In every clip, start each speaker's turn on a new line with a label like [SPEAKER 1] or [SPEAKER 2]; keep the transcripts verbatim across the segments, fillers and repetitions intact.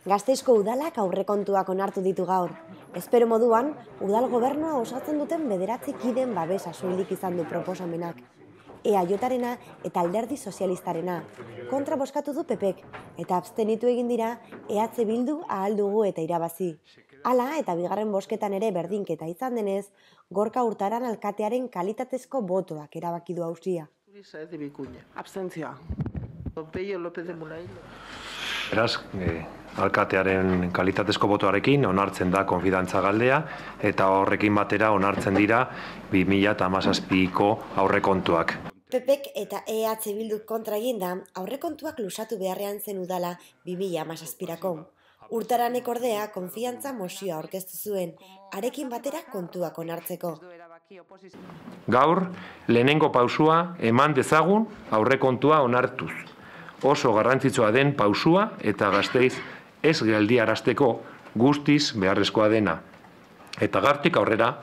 [SPEAKER 1] Gasteizko udalak aurrekontuak onartu ditu gaur. Espero moduan, udal gobernua osatzen duten bederatzi kideen babesa soilik izan du proposamenak. E A J-arena eta Alderdi Sozialistarena. Kontra bozkatu du P Pek, eta abstenitu egin dira E H Bildu ahal dugu eta irabazi. Hala eta bigarren bozketan ere berdinketa izan denez, Gorka Urtaran alkatearen kalitatezko botoak erabaki du auzia.
[SPEAKER 2] Abstentzioa.
[SPEAKER 3] Beraz, eh, alkatearen kalitatezko botoarekin onartzen da konfidantza galdea eta horrekin batera onartzen dira bi mila hamazazpiko aurrekontuak.
[SPEAKER 1] P Pek eta E H Bildu kontra eginda aurrekontuak lusatu beharrean zen udala bi mila hamazazpirako. Urtaranek ordea konfiantza mozioa aurkeztu zuen, arekin batera kontuak onartzeko.
[SPEAKER 3] Gaur, lehenengo pausua eman dezagun aurrekontua onartuz. Oso garrantzitsua den pausua eta Gasteiz ez geldiarazteko guztiz beharrezkoa dena. Eta gaurtik aurrera,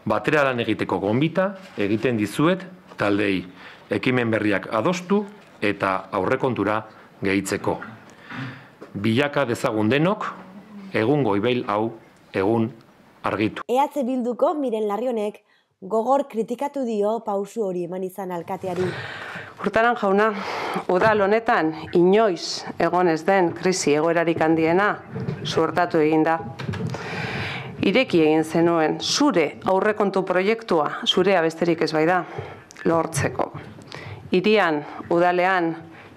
[SPEAKER 3] batera lan egiteko gonbita egiten dizuet taldei, ekimen berriak adostu eta aurrekontura gehitzeko. Bilaka dezagun denok, egun goibeil hau, egun argitu.
[SPEAKER 1] E H Bilduko Miren Larrionek gogor kritikatu dio pausu hori eman izan alkateari.
[SPEAKER 2] Urtaran jauna, udal honetan inoiz egon ez den krisi egoerarik handiena suertatu egin da. Ireki egin zenuen zure aurrekontu proiektua, zurea besterik ez bai da, lortzeko. Hirian, udalean,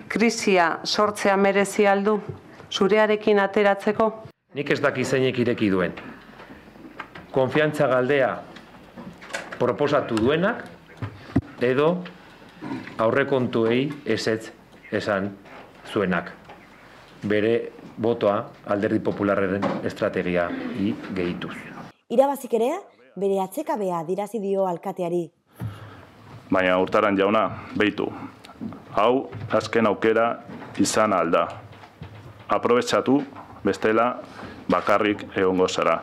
[SPEAKER 2] krisia sortzea merezi aldu, zurearekin ateratzeko?
[SPEAKER 3] Nik ez daki zeinek ireki duen. Konfiantza galdea proposatu duenak edo aurrekontuei ezetz esan zuenak. Bere botoa Alderdi Popularraren estrategia gehituz.
[SPEAKER 1] Irabazik ere, bere atsekabea dirazi dio alkateari.
[SPEAKER 4] Baina Urtaran jauna, beitu. Hau azken aukera izan alda. Aprobetxatu bestela bakarrik egongo zara.